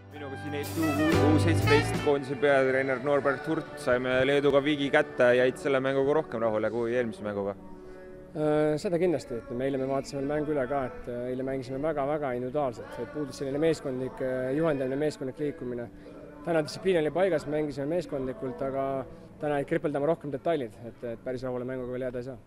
Minuga siin Eesti U17 koondise peatreener Norbert Hurt, saime Leeduga viigi kätte, jäid selle mänguga rohkem rahule kui eelmise mänguga? Seda kindlasti, et eile me vaatasime mängu üle ka, et eile mängisime väga-väga individuaalselt, et puudus selline meeskondlik juhendamine, meeskondlik liikumine. Täna distsipliin oli paigas, mängisime meeskondlikult, aga täna jäid kripeldama rohkem detailid, et päris rahule mänguga veel jääda ei saa.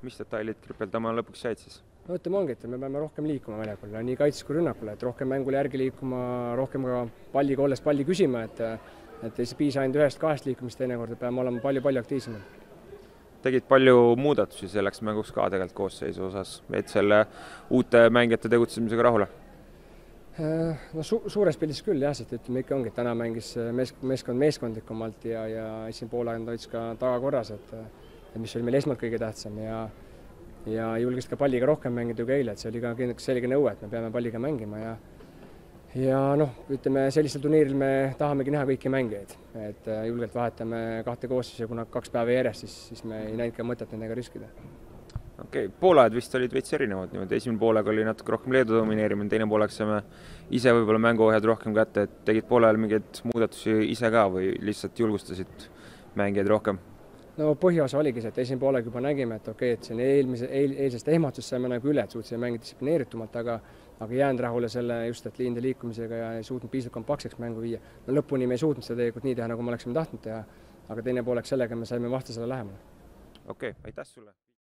Mis detailid kripeldama lõpuks jäid siis? No ütleme ongi, et me peame rohkem liikuma väljakul, nii kaitses kui rünnakule, et rohkem mängule järgi liikuma, rohkem ka palliga olles palli küsima, et ei piisa ainult ühest-kahest liikumist teinekord, et peame olema palju aktiivsemad. Tegid palju muudatusi selleks mänguks ka tegelikult koosseisu osas, et selle uute mängijate tegutsemisega rahule? No suures pildis küll jah, sest ütleme ikka ongi, et täna mängis meeskond meeskondlikumalt ja esimene poole aeg hoidis ka tagakorras, et mis oli meil esmalt kõige tähtsam ja julges ka palliga rohkem mängida kui eile, et see oli ka selge nõue, et me peame palliga mängima ja noh, ütleme sellisel turniiril me tahamegi näha kõiki mängijaid, et julgelt vahetame kahte koosseisu, kuna 2 päeva järjest, siis me ei näinud ka mõtet nendega riskida. Okei, poolajad vist olid veits erinevad, niimoodi esimene poolega oli natuke rohkem Leedu domineerimine, teine pooleks saime ise võib-olla mänguohjad rohkem kätte, et tegid poolajal mingeid muudatusi ise ka või lihtsalt julgustasid mängijaid rohkem? No põhiosa oligi see, et esimene poolega juba nägime, et okei, et see eilsest ehmatust saime nagu üle, et suutsime mängida distsiplineeritumalt, aga jäänud rahule selle just, et liinde liikumisega ja ei suutnud piisavalt kompaktseks mängu viia. No lõpuni me ei suutnud seda tegelikult nii teha, nagu me oleksime tahtnud teha, aga teine pooleks sellega me saime vastasele lähemale. Okei, aitäh sulle!